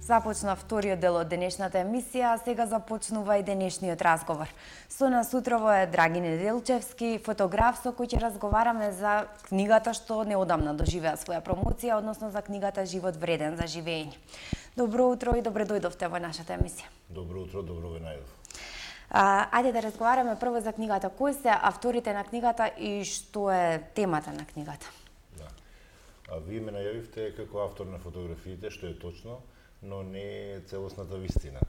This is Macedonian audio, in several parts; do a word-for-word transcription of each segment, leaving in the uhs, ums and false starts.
Започна вториот дел од денешната емисија, а сега започнува и денешниот разговор. Со нас утрово е Драги Неделчевски, фотограф со кој ќе разговараме за книгата што неодамна доживеа своја промоција, односно за книгата Живот вреден за живење. Добро утро и добре дојдовте во нашата емисија. Добро утро, добро ве најдов. А, ајде да разговараме прво за книгата. Кои се авторите на книгата и што е темата на книгата? Да. А вие ме најавивте како автор на фотографиите, што е точно, но не е целосната вистина.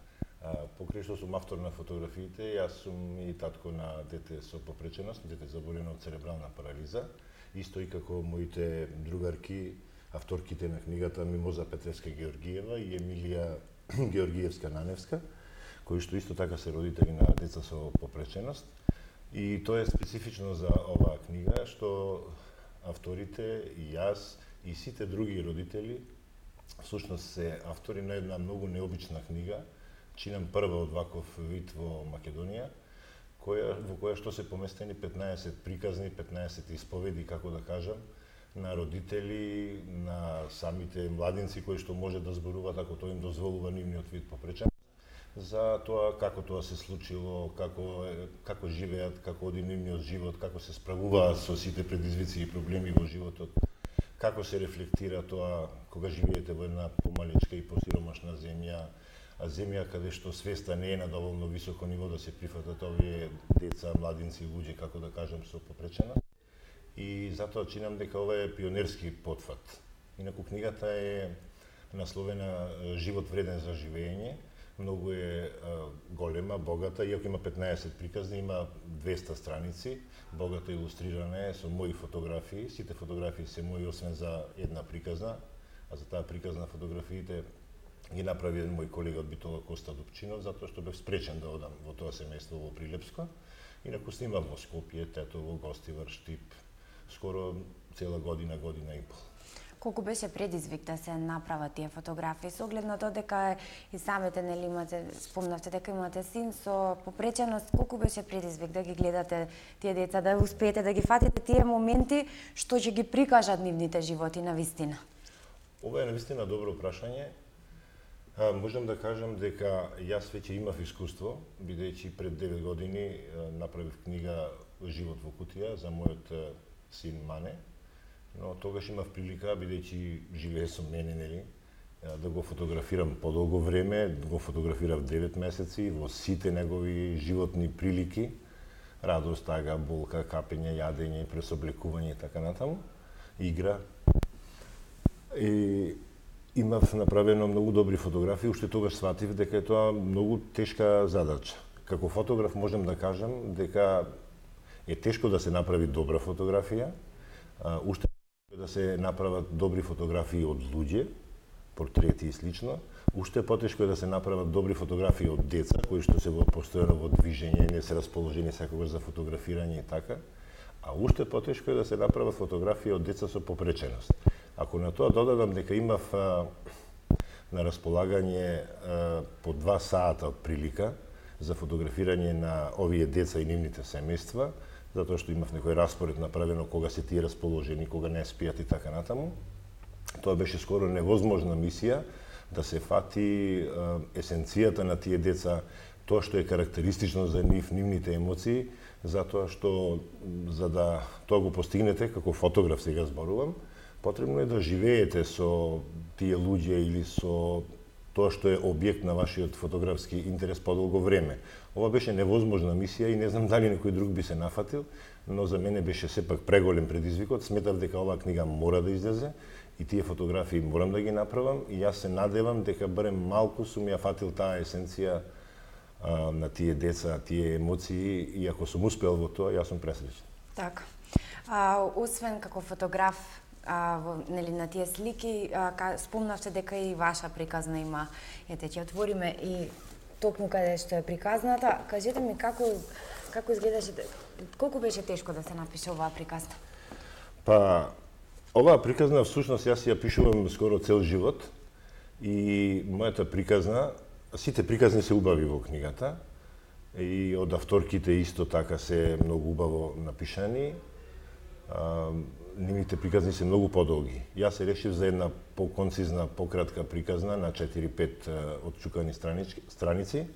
А, покрај што сум автор на фотографиите, јас сум и татко на дете со попреченост, дете заболено од церебрална парализа, исто и како моите другарки, авторките на книгата Мимоза Петревска-Георгиева и Емилија Георгиевска-Наневска, кои што исто така се родители на деца со попреченост. И тоа е специфично за оваа книга, што авторите и јас и сите други родители всушност се автори на една многу необична книга, чинам прва од ваков вид во Македонија, која, во која што се поместени петнаесет приказни, петнаесет исповеди, како да кажам, на родители, на самите младинци кои што може да зборуваат ако тоа им дозволува нивниот вид попреченост, за тоа како тоа се случило, како како живеат, како оди нивниот живот, како се справуваат со сите предизвици и проблеми во животот, како се рефлектира тоа кога живеете во една помалечка и посиромашна земја, а земја каде што свеста не е на доволно високо ниво да се прифатат овие деца, младинци, луѓе, како да кажам, со попреченост. И затоа чинам дека ова е пионерски потфат. Инаку книгата е насловена Живот вреден за живење. Многу е а, голема, богата, иако има петнаесет приказни, има двеста страници, богато илустрирана е со мои фотографии. Сите фотографии се мои, освен за една приказна, а за таа приказна фотографиите ги направи еден мој колега од Битола, Коста Дупчинов, затоа што бев спречен да одам во тоа семејство во Прилепско. Инаку снимав во Скопје, Тетово, Гостивар, Штип, скоро цела година, година и пол. Колку беше предизвик да се направат тие фотографии, со оглед на тоа дека и самите нели имате, спомнавте дека имате син со попреченост, колку беше предизвик да ги гледате тие деца, да успеете да ги фатите тие моменти што ќе ги прикажат нивните животи на вистина? Ова е на вистина добро прашање. А, можам да кажам дека јас веќе имав искуство, бидејќи пред девет години направив книга Живот во кутија за мојот син Мане. Но тогаш имав прилика, бидејќи живее со мене, нели, да го фотографирам подолго време, го фотографирав девет месеци во сите негови животни прилики, радост, тага, болка, капење, јадење, пресоблекување и така натаму, игра. И имав направено многу добри фотографии, уште тогаш сватив дека е тоа многу тешка задача. Како фотограф можам да кажам дека е тешко да се направи добра фотографија, уште да се направат добри фотографии од луѓе, портрети и слично, уште потешко е да се направат добри фотографии од деца кои што се во постојано во движење, не се расположени секогаш за фотографирање и така, а уште потешко е да се направат фотографии од деца со попреченост. Ако на тоа додадам дека имав а, на располагање а, по два сата од прилика за фотографирање на овие деца и нивните семејства, затоа што имав некој распоред направено кога се тие расположени, кога не спијат и така натаму. Тоа беше скоро невозможна мисија да се фати е, есенцијата на тие деца, тоа што е карактеристично за нив, нивните емоции, затоа што за да тоа го постигнете, како фотограф сега зборувам, потребно е да живеете со тие луѓе или со тоа што е објект на вашиот фотографски интерес подолго време. Ова беше невозможна мисија и не знам дали некој друг би се нафатил, но за мене беше сепак преголем предизвикот. Сметав дека оваа книга мора да излезе и тие фотографии морам да ги направам и јас се надевам дека барем малку сум ја фатил таа есенција а, на тие деца, тие емоции и ако сум успел во тоа, јас сум пресреќен. Така. А, освен како фотограф, А, во, нели, на тие слики, а, ка, спомнавте дека и ваша приказна има. Ете, ќе отвориме и токму каде што е приказната. Кажете ми како како изгледаше, колку беше тешко да се напише оваа приказна? Па, оваа приказна всушност јас ја пишувам скоро цел живот и мојата приказна, сите приказни се убави во книгата и од авторките исто така се многу убаво напишани. нивните приказни се многу подолги. Јас се решив за една поконцизна, пократка приказна на четири-пет отчукани страници.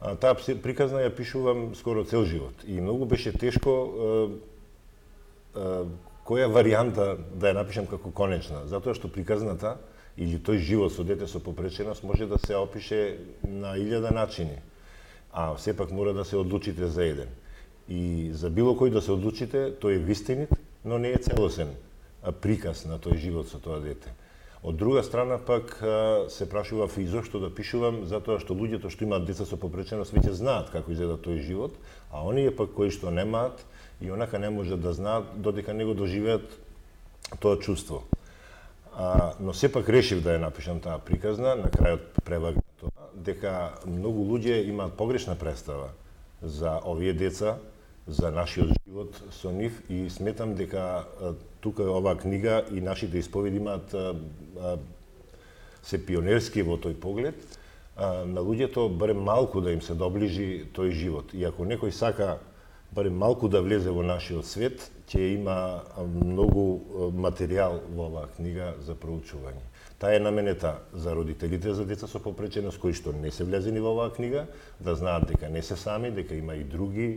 А, таа приказна ја пишувам скоро цел живот и многу беше тешко е, е, која варијанта да ја напишам како конечна, затоа што приказната или тој живот со дете со попреченост може да се опише на илјада начини, а сепак мора да се одлучите за еден. И за било кој да се одлучите, тој е вистинит, но не е целосен приказ на тој живот со тоа дете. Од друга страна пак се прашував и зошто да пишувам, затоа што луѓето што имаат деца со попреченост веќе знаат како изгледа тој живот, а оние пак кои што немаат и онака не можат да знаат додека не го доживеат тоа чувство. А, но сепак решив да ја напишам таа приказна, на крајот превага тоа, дека многу луѓе имаат погрешна представа за овие деца, за нашиот живот со нив и сметам дека тука оваа книга и нашите исповеди имаат се пионерски во тој поглед на луѓето барем малку да им се доближи тој живот. И ако некој сака барем малку да влезе во нашиот свет, ќе има многу материјал во оваа книга за проучување. Таа е наменета за родителите за деца со попреченост кои што не се влезени во оваа книга, да знаат дека не се сами, дека има и други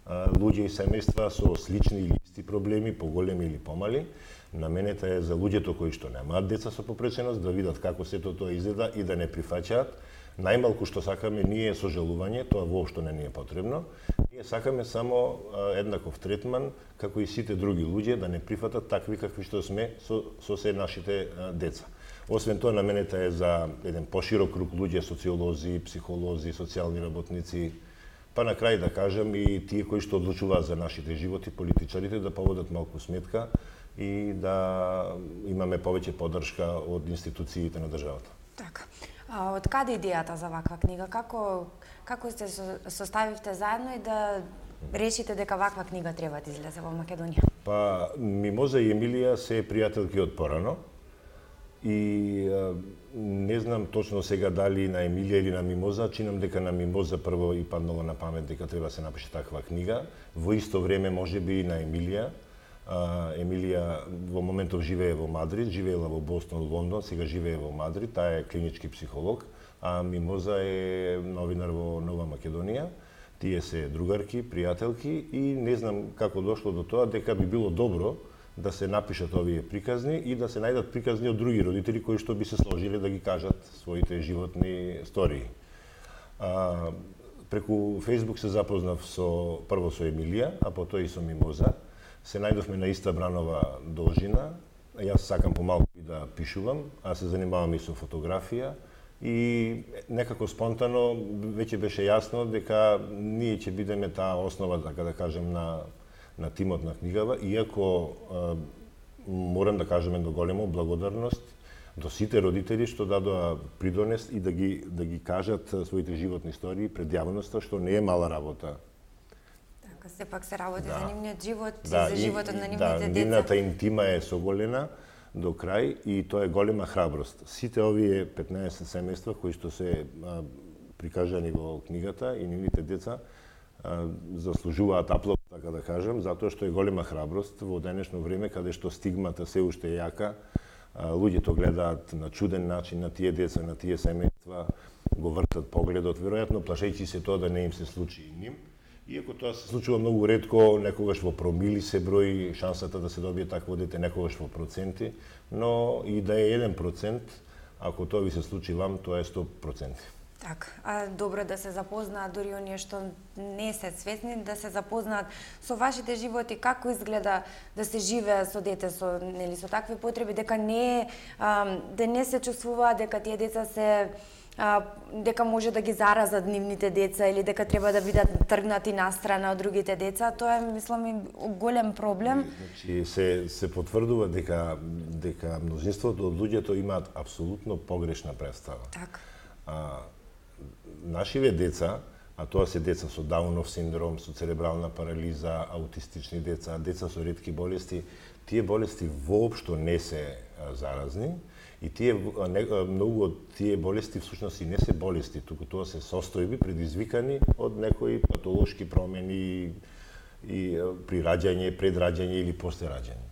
луѓе и семејства со слични или исти проблеми, поголеми или помали. Наменета е за луѓето кои што немаат деца со попреченост да видат како сето тоа изгледа и да не прифаќаат. Најмалку што сакаме ние е сожалување, тоа воопшто не ни е потребно. Ние сакаме само еднаков третман како и сите други луѓе да не прифатат такви какви што сме со, со се нашите деца. Освен тоа, наменета е за еден поширок круг луѓе, социолози, психолози, социјални работници, па на крај да кажам и тие кои што одлучуваат за нашите животи, политичарите, да поводат малку сметка и да имаме повеќе поддршка од институциите на државата. Така. А од каде идејата за ваква книга? Како како се составивте заедно и да решите дека ваква книга треба да излезе во Македонија? Па Мимоза и Емилија се пријателки од порано и не знам точно сега дали на Емилија или на Мимоза, чинам дека на Мимоза прво и паднало на памет дека треба се напише таква книга. Во исто време можеби и на Емилија. Емилија во моментов живее во Мадрид, живеела во Бостон, Лондон, сега живее во Мадрид, таа е клинички психолог, а Мимоза е новинар во Нова Македонија. Тие се другарки, пријателки и не знам како дошло до тоа дека би било добро да се напишат овие приказни и да се најдат приказни од други родители кои што би се сложиле да ги кажат своите животни стории. А, преку Facebook се запознав со прво со Емилија, а потоа и со Мимоза. Се најдовме на иста бранова должина. Јас сакам помалку и да пишувам, а се занимавам и со фотографија и некако спонтано веќе беше јасно дека ние ќе бидеме таа основа, така да кажем, на на тимот на книгава, иако а, морам да кажем едно големо благодарност до сите родители што дадоа придонес и да ги да ги кажат своите животни истории пред јавноста, што не е мала работа. Така, сепак се работи да. за нивниот живот да, и за животот на нивните да, деца. Да, нивната интима е соголена до крај и тоа е голема храброст. Сите овие петнаесет семејства кои што се а, прикажани во книгата и нивните деца а, заслужуваат аплауз, така да кажам, затоа што е голема храброст во денешно време каде што стигмата се уште е јака, а, луѓето гледаат на чуден начин на тие деца, на тие семејства, го вртат погледот, веројатно плашејќи се тоа да не им се случи и ним. Иако тоа се случува многу ретко, некогаш во промили се брои шансата да се добие такво дете, некогаш во проценти, но и да е еден процент, ако тоа ви се случи вам, тоа е сто проценти. Така, а добро да се запознаат дури оние што не се свесни, да се запознаат со вашите животи, како изгледа да се живее со дете со нели со такви потреби, дека не а, да не се чувствуваат дека тие деца се а, дека може да ги заразат нивните деца или дека треба да бидат тргнати настрана од другите деца, тоа е мислам голем проблем. Значи се се потврдува дека дека мнозинството од луѓето имаат апсолутно погрешна представа. Така. А, нашиве деца, а тоа се деца со Даунов синдром, со церебрална парализа, аутистични деца, деца со ретки болести, тие болести воопшто не се заразни и тие не, многу од тие болести всушност и не се болести, туку тоа се состојби предизвикани од некои патолошки промени и при раѓање, пред раѓање или после раѓање.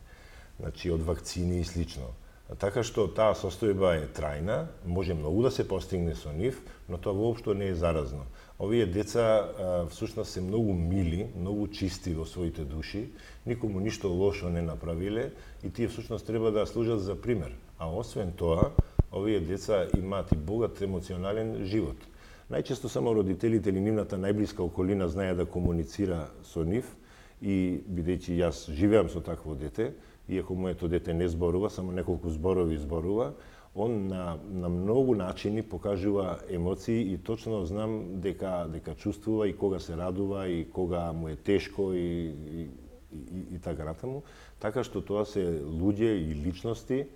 значи од вакцини и слично. Така што таа состојба е трајна, може многу да се постигне со нив, но тоа воопшто не е заразно. Овие деца всушност се многу мили, многу чисти во своите души, никому ништо лошо не направиле и тие всушност треба да служат за пример. А освен тоа, овие деца имаат и богат емоционален живот. Најчесто само родителите или нивната најблиска околина знае да комуницира со нив и бидејќи јас живеам со такво дете, иако моето дете не зборува, само неколку зборови зборува, он на, на многу начини покажува емоции и точно знам дека дека чувствува и кога се радува и кога му е тешко и, и, и, и така натаму. Така што тоа се луѓе и личности.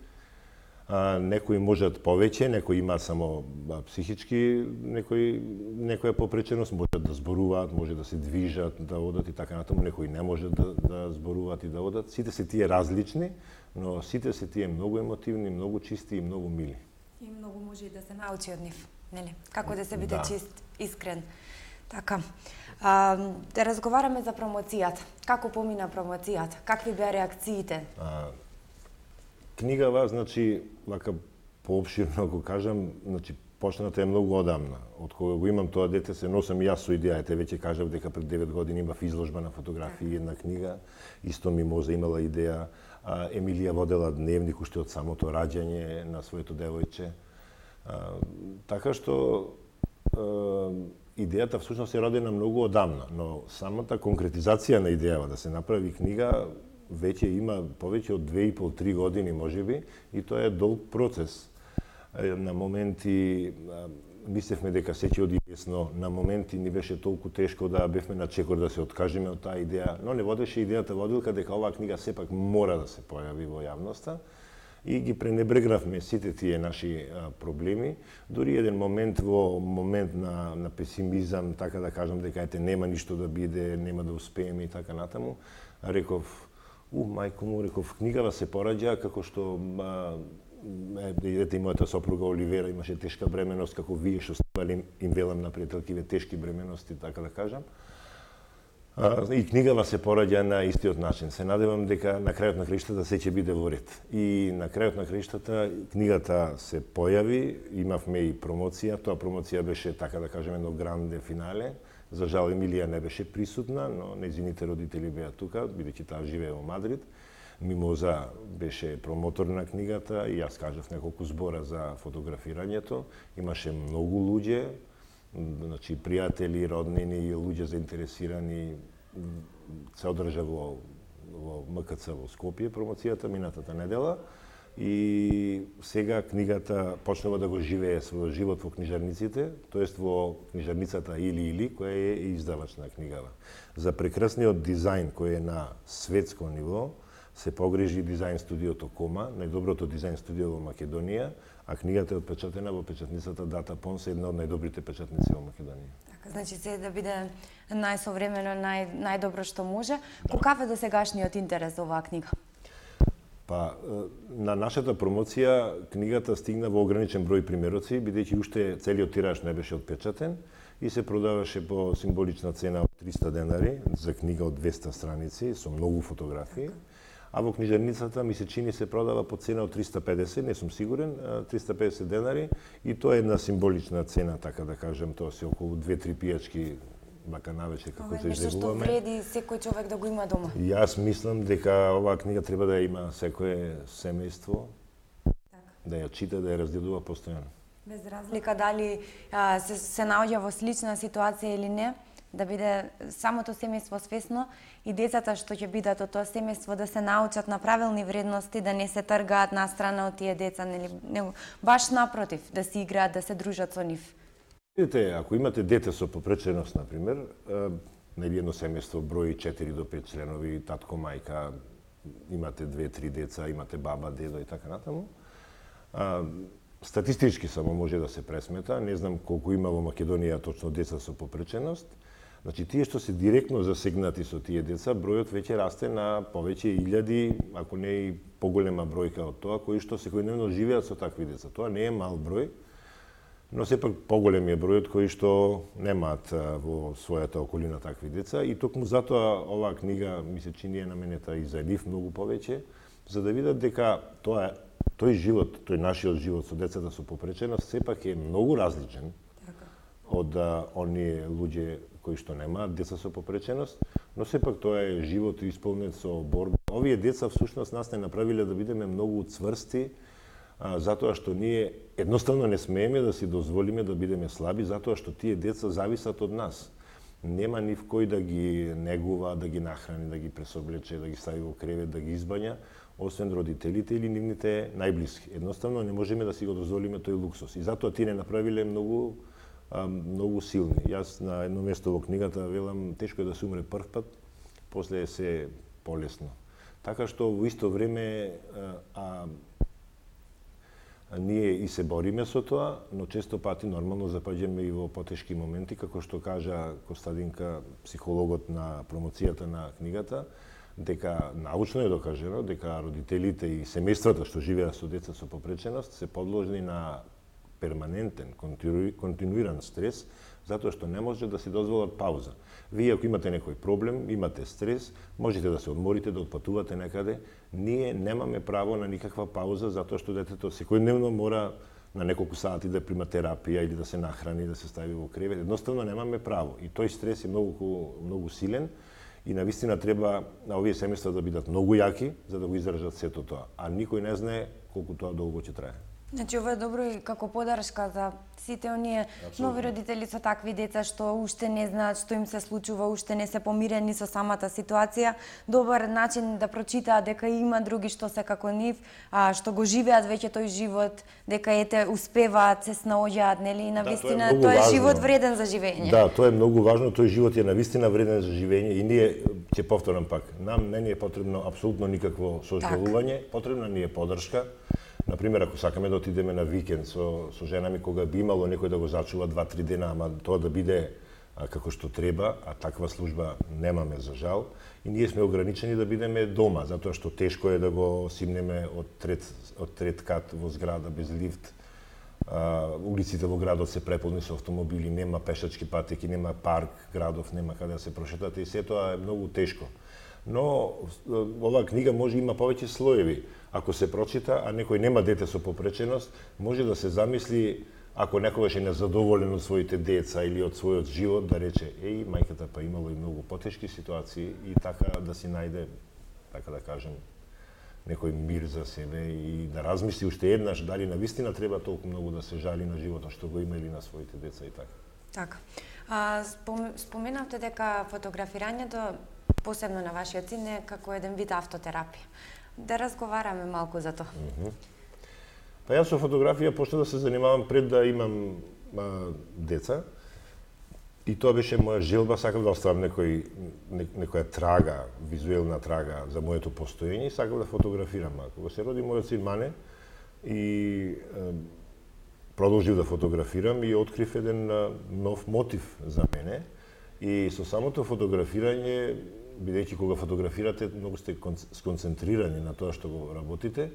А, некои можат повеќе, некои имаат само а, психички, некои некоја попреченост, можат да зборуваат, може да се движат, да одат и така натаму, некои не можат да, да зборуваат и да одат. Сите се тие различни, но сите се тие многу емотивни, многу чисти и многу мили. И многу може и да се научи од нив, нели? Како да се биде Да. чист, искрен. Така. А, да разговараме за промоцијата. Како помина промоцијата? Какви беа реакциите? А, книгава, значи, вака поопширно го кажам, значи почната е многу одамна. Од кога го имам тоа дете се носам и јас со идејата, веќе кажав дека пред девет години имав изложба на фотографии, една книга, исто Мимоза имала идеја, а, Емилија водела дневник уште од самото раѓање на своето девојче. А, така што а, идејата всушност е родена многу одамна, но самата конкретизација на идејава да се направи книга веќе има повеќе од две и пол три години можеби и тоа е долг процес. На моменти мислевме дека се ќе оди лесно, на моменти ни беше толку тешко да бевме на чекор да се откажеме од таа идеја, но не водеше идејата водилка дека оваа книга сепак мора да се појави во јавноста и ги пренебрегнавме сите тие наши а, проблеми. Дури еден момент во момент на, на песимизам, така да кажам дека ете нема ништо да биде, нема да успееме и така натаму, реков, у, мајко му, реков, книгава се пораѓа како што а, ете и мојата сопруга Оливера имаше тешка бременост, како вие што ставали им велам на пријателкиве тешки бремености, така да кажам. А, и книгава се пораѓа на истиот начин. Се надевам дека на крајот на краиштата се ќе биде во ред. И на крајот на краиштата книгата се појави, имавме и промоција, тоа промоција беше, така да кажем, едно гранде финале. За жал Емилија не беше присутна, но нејзините родители беа тука, бидејќи таа живее во Мадрид. Мимоза беше промотор на книгата и јас кажав неколку збора за фотографирањето. Имаше многу луѓе, значи пријатели, роднини и луѓе заинтересирани. Се одржа во, во МКЦ во Скопје промоцијата минатата недела и сега книгата почнува да го живее својот живот во книжарниците, тоест во книжарницата Или Или, која е издавач на книгава. За прекрасниот дизајн кој е на светско ниво, се погрижи дизајн студиото Кома, најдоброто дизајн студио во Македонија, а книгата е отпечатена во печатницата Дата Понс, една од најдобрите печатници во Македонија. Така, значи се да биде најсовремено, нај, најдобро што може. Да. Каков е досегашниот интерес за оваа книга? Па, на нашата промоција книгата стигна во ограничен број примероци, бидејќи уште целиот тираж не беше отпечатен и се продаваше по символична цена од триста денари за книга од двеста страници со многу фотографии. А во книжарницата ми се чини се продава по цена од триста педесет, не сум сигурен, триста педесет денари и тоа е една символична цена, така да кажем, тоа се околу две-три пијачки вака навечер како се излегуваме. Нешто што вреди секој човек да го има дома. Јас мислам дека оваа книга треба да ја има секое семејство, така, да ја чита, да ја разгледува постојано. Без разлика дали а, се, се наоѓа во слична ситуација или не, да биде самото семејство свесно и децата што ќе бидат од тоа семејство да се научат на правилни вредности, да не се тргаат настрана од тие деца, нели, него, баш напротив, да си играат, да се дружат со нив. Видите, ако имате дете со попреченост, например, нели едно семејство брои четири до пет членови, татко, мајка, имате две-три деца, имате баба, дедо и така натаму, а, статистички само може да се пресмета, не знам колку има во Македонија точно деца со попреченост. Значи, тие што се директно засегнати со тие деца, бројот веќе расте на повеќе илјади, ако не и поголема бројка од тоа, кои што секојдневно живеат со такви деца. Тоа не е мал број, но сепак поголем е бројот кои што немаат во својата околина такви деца и токму затоа оваа книга ми се чини е наменета и за нив многу повеќе, за да видат дека тоа тој живот, тој нашиот живот со децата со попреченост сепак е многу различен Така. од а, оние луѓе кои што немаат деца со попреченост, но сепак тоа е живот исполнет со борба. Овие деца всушност нас не направиле да бидеме многу цврсти, а, затоа што ние едноставно не смееме да си дозволиме да бидеме слаби, затоа што тие деца зависат од нас. Нема нив кој да ги негува, да ги нахрани, да ги пресоблече, да ги стави во кревет, да ги избања, освен родителите или нивните најблиски. Едноставно не можеме да си го дозволиме тој луксус. И затоа тие не направиле многу а, многу силни. Јас на едно место во книгата велам тешко е да се умре прв пат, после е се полесно. Така што во исто време а, а ние и се бориме со тоа, но често пати нормално запаѓаме и во потешки моменти, како што кажа Костадинка, психологот на промоцијата на книгата, дека научно е докажено дека родителите и семејствата што живеат со деца со попреченост се подложни на перманентен, континуиран стрес, затоа што не може да си дозволат пауза. Вие ако имате некој проблем, имате стрес, можете да се одморите, да отпатувате некаде. Ние немаме право на никаква пауза, затоа што детето секојдневно мора на неколку сати да прима терапија или да се нахрани, да се стави во кревет. Едноставно немаме право. И тој стрес е многу, многу силен и навистина треба на овие семејства да бидат многу јаки за да го издржат сето тоа. А никој не знае колку тоа долго ќе трае. Значи, ова е добро и како подршка за сите оние нови родители со такви деца што уште не знаат што им се случува, уште не се помирени со самата ситуација. Добар начин да прочитаат дека има други што се како нив, а, што го живеат веќе тој живот, дека ете успеваат, се снаоѓаат, нели, и навистина да, тоа е, тоа е живот вреден за живење. Да, тоа е многу важно, тој живот е навистина вреден за живење и ние ќе повторам пак, нам не ни е потребно апсолутно никакво сожалување, потrebна ни е подршка. Например, ако сакаме да отидеме на викенд со, со жена ми, кога би имало некој да го зачува два-три дена, ама тоа да биде а, како што треба, а таква служба немаме за жал, и ние сме ограничени да бидеме дома, затоа што тешко е да го симнеме од трет, од трет кат во зграда без лифт. А, улиците во градот се преполни со автомобили, нема пешачки патеки, нема парк, градов, нема каде да се прошетате и се тоа е многу тешко. Но оваа книга може има повеќе слоеви. Ако се прочита, а некој нема дете со попреченост, може да се замисли, ако некогаш е незадоволен од своите деца или од својот живот, да рече, еј, мајката па имало и многу потешки ситуации и така да си најде, така да кажем, некој мир за себе и да размисли уште еднаш дали навистина треба толку многу да се жали на животот што го има или на своите деца и така. Така. А, спом, споменавте дека фотографирањето, посебно на вашиот син, е како еден вид автотерапија. Да разговараме малку за тоа. Mm -hmm. Па јас со фотографија почнав да се занимавам пред да имам а, деца. И тоа беше моја желба, сакав да оставам некој, не, некоја трага, визуелна трага за моето постоење и сакав да фотографирам. А кога се роди мојот син Мане и е, продолжив да фотографирам и открив еден а, нов мотив за мене. И со самото фотографирање, бидејќи кога фотографирате, многу сте сконцентрирани на тоа што го работите,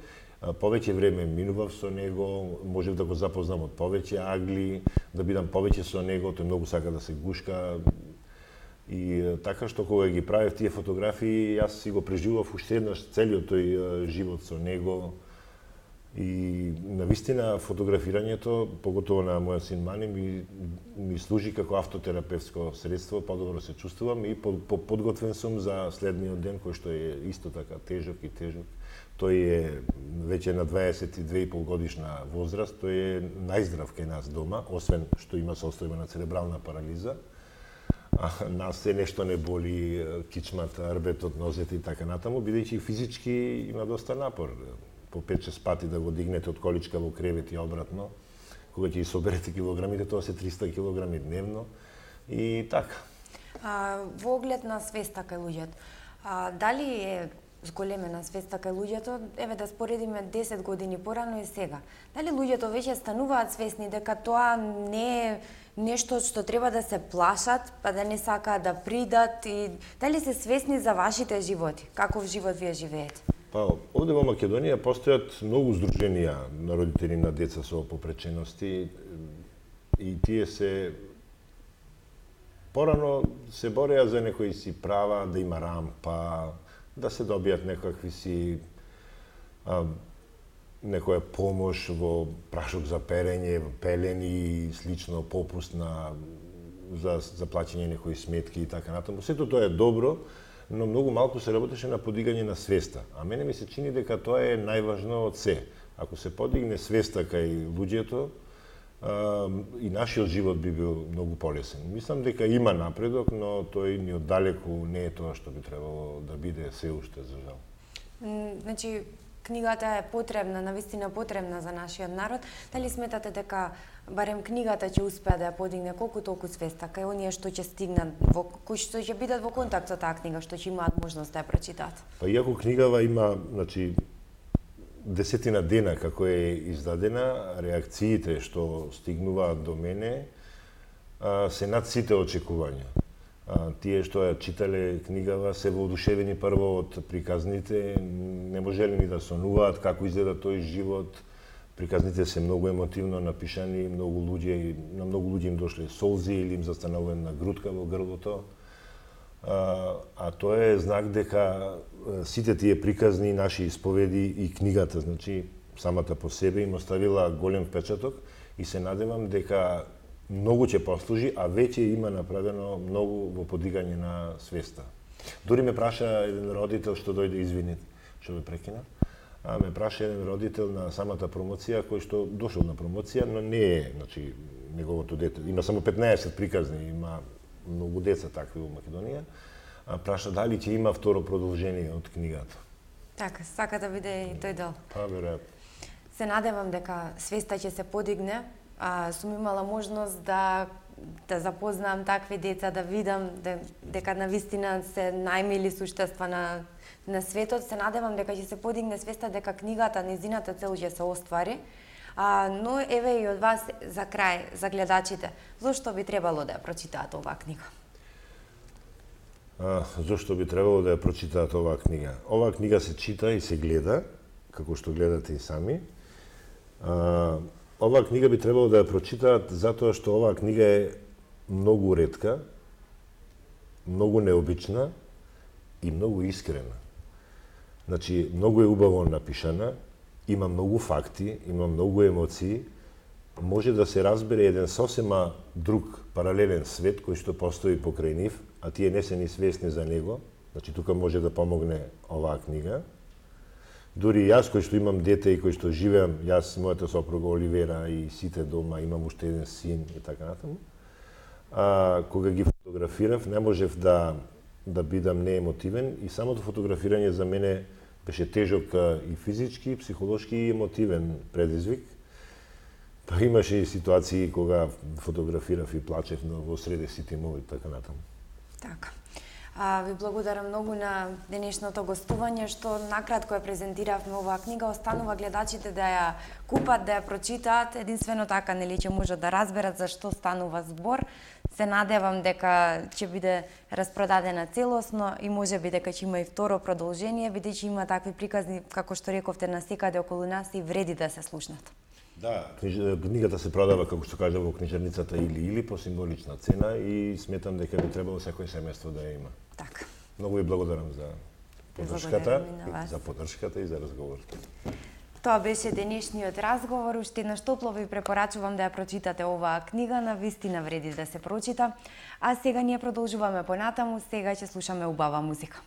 повеќе време минував со него, можев да го запознам од повеќе агли, да бидам повеќе со него, тој многу сака да се гушка. И така што кога ги правев тие фотографии, јас си го преживував уште еднаш целиот тој живот со него. И навистина фотографирањето, поготово на мојот син Мани, ми, ми служи како автотерапевтско средство, подобро се чувствувам и подготвен сум за следниот ден, кој што е исто така тежок и тежок. Тој е веќе на дваесет и две и пол годишна возраст, тој е најздрав кај нас дома, освен што има состојба на церебрална парализа. А нас се нешто не боли, кичмата, рбетот, нозете и така натаму, бидејќи физички има доста напор. По пет-шест пати да го дигнете од количка во кревет и обратно, кога ќе ги соберете килограмите, тоа се триста килограми дневно и така. А, во оглед на свеста кај луѓето, а, дали е зголемена свеста кај луѓето, еве да споредиме десет години порано и сега. Дали луѓето веќе стануваат свесни дека тоа не е нешто што треба да се плашат, па да не сакаат да придат, и дали се свесни за вашите животи? Каков живот вие живеете? Па, овде во Македонија постојат многу здруженија на родители на деца со попречености и тие се порано се бореа за некои си права, да има рампа, да се добијат некакви си а, некоја помош во прашок за перење, пелени и слично, попуст на за за плаќање некои сметки и така натаму. Сето тоа е добро, но многу малку се работеше на подигање на свеста. А мене ми се чини дека тоа е најважно од се. Ако се подигне свеста кај луѓето, а, и нашиот живот би бил многу полесен. Мислам дека има напредок, но тој ни оддалеку не е тоа што би требало да биде се уште, за жал. Значи, книгата е потребна, навистина потребна за нашиот народ. Дали сметате дека барем книгата ќе успее да ја подигне колку толку свеста кај оние што ќе стигнат, во кои што ќе бидат во контакт со таа книга, што ќе имаат можност да ја прочитаат? Па иако книгава има, значи, десетина дена како е издадена, реакциите што стигнуваат до мене а, се над сите очекувања. А, тие што ја читале книгава се воодушевени прво од приказните, не можеле ни да сонуваат како изгледа тој живот. Приказните се многу емотивно напишани, многу луѓе, на многу луѓе им дошле солзи или им застанала една грудка во грлото. А, а тоа е знак дека сите тие приказни, наши исповеди и книгата, значи самата по себе им оставила голем впечаток и се надевам дека многу ќе послужи, а веќе има направено многу во подигање на свеста. Дори ме праша еден родител што дојде, извинете, што ме прекина, а ме праша еден родител на самата промоција кој што дошол на промоција, но не е, значи неговото дете, има само петнаесет приказни, има многу деца такви во Македонија, а праша дали ќе има второ продолжение од книгата. Така, сака да биде и тој дел. Па, веројатно. Се надевам дека свеста ќе се подигне. А, сум имала можност да да запознам такви деца, да видам де, дека навистина се најмили суштества на на светот. Се надевам дека ќе се подигне свеста дека книгата, незината цел ќе се оствари. А, но еве и од вас за крај, за гледачите, зошто би требало да ја прочитаат оваа книга? А, зошто би требало да ја прочитаат оваа книга? Оваа книга се чита и се гледа, како што гледате и сами. А, оваа книга би требало да ја прочитаат затоа што оваа книга е многу ретка, многу необична и многу искрена. Значи, многу е убаво напишана, има многу факти, има многу емоции, може да се разбере еден сосема друг паралелен свет кој што постои покрај нив, а тие не се ни свесни за него. Значи, тука може да помогне оваа книга. Дури јас кој што имам дете и кој што живеам, јас, мојата сопруга Оливера и сите дома, имам уште еден син и така натаму. А, кога ги фотографирав, не можев да да бидам неемотивен и самото фотографирање за мене беше тежок и физички, и психолошки и емотивен предизвик. Па имаше и ситуации кога фотографирав и плачев во среде сите мови и така натаму. Така. А, ви благодарам многу на денешното гостување што накратко ја презентиравме оваа книга. Останува гледачите да ја купат, да ја прочитаат. Единствено така нели ќе можат да разберат за што станува збор. Се надевам дека ќе биде распродадена целосно и можеби дека ќе има и второ продолжение, бидејќи има такви приказни, како што рековте, на секаде околу нас и вреди да се слушнат. Да, книгата се продава, како што кажа, во книжарницата или-или по символична цена и сметам дека би требало секој семејство да ја има. Така. Многу ви благодарам за поддршката, за поддршката и за разговорот. Тоа беше денешниот разговор. Уште еднаш топло ви препорачувам да ја прочитате оваа книга, на вистина вреди да се прочита. А сега ние продолжуваме понатаму, сега ќе слушаме убава музика.